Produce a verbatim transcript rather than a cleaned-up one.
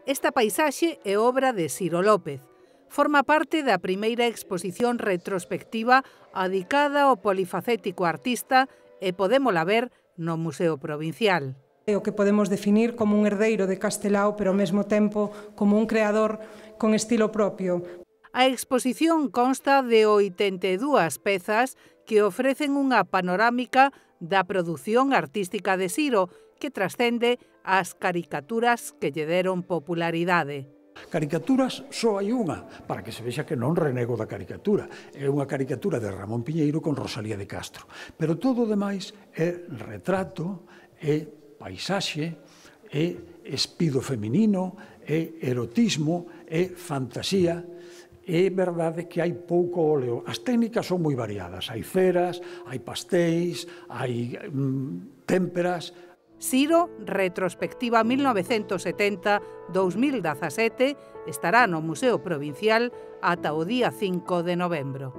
Esta paisaxe é obra de Ciro López. Forma parte da primeira exposición retrospectiva adicada ao polifacético artista e podémola ver no Museo Provincial. É o que podemos definir como un herdeiro de Castelao, pero ao mesmo tempo como un creador con estilo propio. A exposición consta de oitenta e dúas pezas que ofrecen unha panorámica da produción artística de Ciro, que trascende as caricaturas que lle deron popularidade. Caricaturas só hai unha, para que se vexa que non renego da caricatura. É unha caricatura de Ramón Piñeiro con Rosalía de Castro. Pero todo o demais é retrato, é paisaxe, é espido feminino, é erotismo, é fantasía. É verdade que hai pouco óleo. As técnicas son moi variadas. Hai ceras, hai pastéis, hai mm, témperas. Ciro, retrospectiva mil novecentos setenta a dos mil dezasete, estará no Museo Provincial ata o día cinco de novembro.